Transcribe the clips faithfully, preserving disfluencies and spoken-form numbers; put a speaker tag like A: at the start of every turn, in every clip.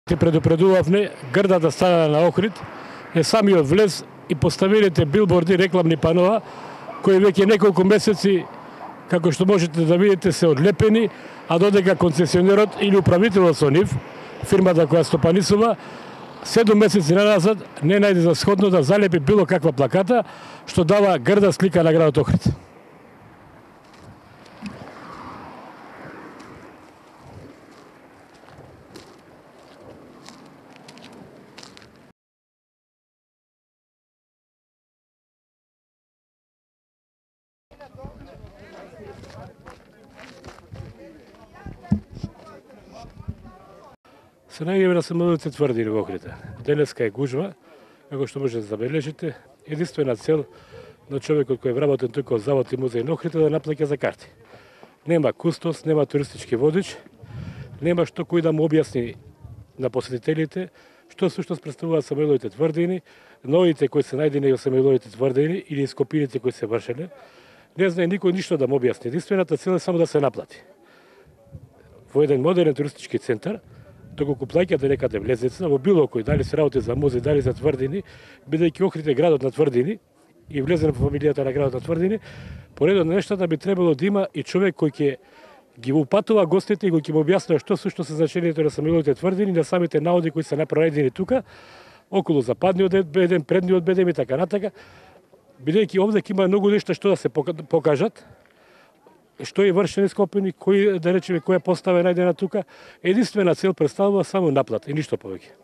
A: Ти предупредувавме грдата стана на Охрид е самиот влез и поставилите билборди, рекламни панова, кои веќе неколку месеци, како што можете да видите, се одлепени, а додека концесионерот или управителот со нив, фирмата која стопанисува, седум месеци назад не најде за сходно да залепи било каква плаката, што дава грда слика на градот Охрид. Се најдеме на самолите тврдини во Охрид. Денеска е гужва, како што можете да забележите, единствена цел на човекот кој е вработен тука од завод и музеј на Охрид е да наплаќа за карти. Нема кустос, нема туристички водич, нема што кој да му објасни на посетителите што всушност представуваат самолите тврдини, новите кои се најдени во самолите тврдини или ископините кои се вршеле. Не знае никој ништо да му објасни. Единствената цел е само да се наплати. Во еден модерен туристички центар, доколку плаќате некаде влезница, во било кој, дали се работи за музеј, дали за тврдини, бидејќи Охрид е градот на тврдини и влезен во фамилијата на градот на тврдини, поредот на нештата би требало да има и човек кој ќе ги упатува гостите и кој ќе му објаснува што сушто се значењето на самолите тврдини, на самите наоди кои се направени тука, околу западниот бедем, предниот бедем и така натака, бидејќи овде има многу нешта што да се покажат, што е вршено ископени, кој, да речеме, која постава е најдена тука, единствена цел представува само наплата и ништо повеќе.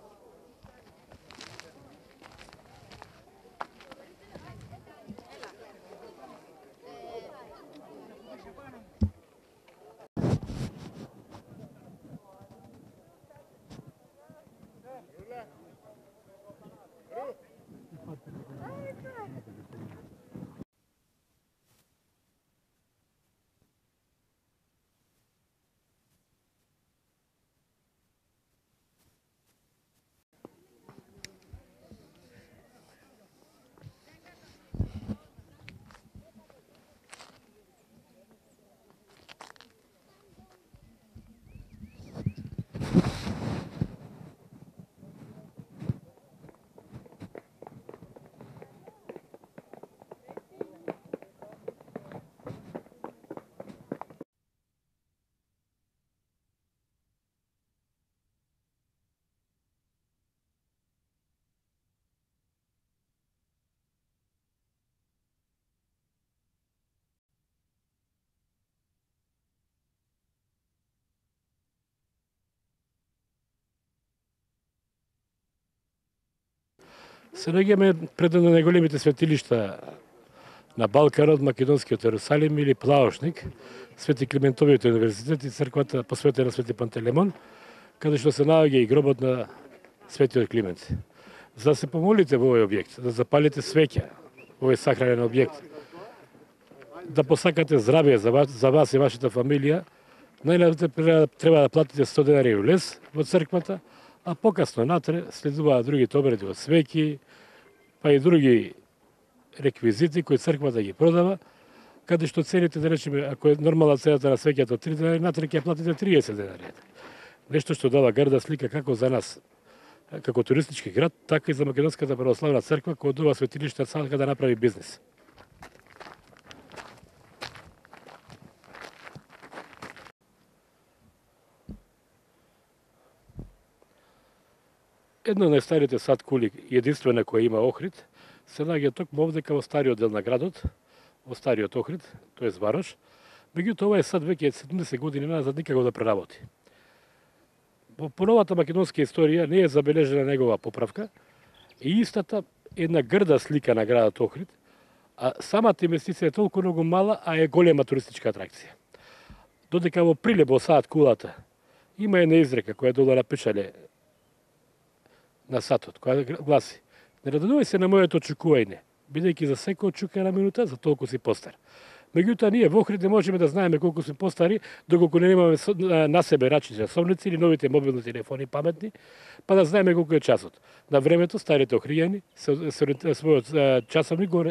A: Се наоѓаме пред едно најголемите светилишта на Балканот, македонскиот Ерусалим или Плаошник, Свети Климентовиот универзитет и црквата посветена на Свети Пантелеймон, каде што се наоѓа и гробот на Светиот Климент. За да се помолите во овој објект, да запалите свеќа во овој сакрален објект, да посакате здравје за вас, за вас и вашата фамилија, најнапред треба да платите сто денари улез во црквата, а покасно натре следуваат другите обреди од свеќи, па и други реквизити кои црквата ги продава, каде што цените, да речеме, ако е нормална цената на свеќата од три денари, натре ќе платите триесет денари. Нешто што дава гарда слика како за нас, како туристички град, така и за Македонската православна црква, која од ова светилиште сака да направи бизнес. Едно од најстарите сад кули, единствена која има Охрид, се наоѓа токму овдека во стариот дел на градот, во стариот Охрид, тоест Варош. Меѓутоа, овој сад веќе седумдесет години назад никако да преработи. По новата македонска историја не е забележена негова поправка и истата една грда слика на градот Охрид, а самата инвестиција е толку многу мала, а е голема туристичка атракција. Додека во Прилеп во сад кулата има една изрека која долу напишале на сатот, која гласи: не радувај се на моето чукување, бидејќи за секој чука една минута, за толку си постар. Меѓутоа, ние во Охрид не можеме да знаеме колку сме постари, доколку не немаме на себе рачни часовници или новите мобилни телефони паметни, па да знаеме колку е часот. На времето, старите охријани својот часовник го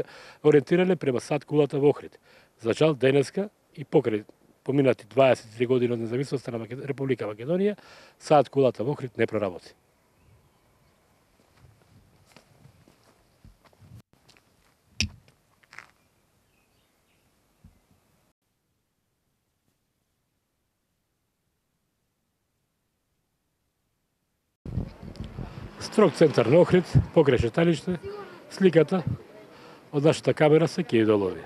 A: ориентирале према сад кулата во Охрид. За жал, денеска и покрај поминати дваесет и три години од независноста на Република Македонија, саат кулата во Охрид не проработи. Строг центар на Охрид, покрај шеталиште, сликата од нашата камера се ќе идолови.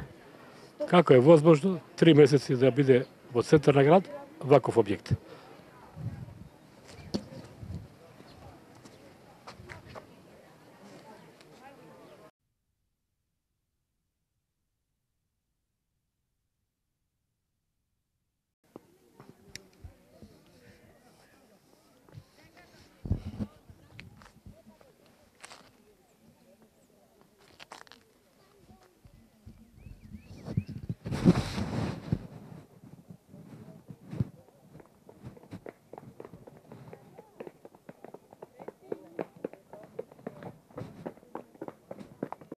A: Како е возможно три месеци да биде во центар на град ваков објект?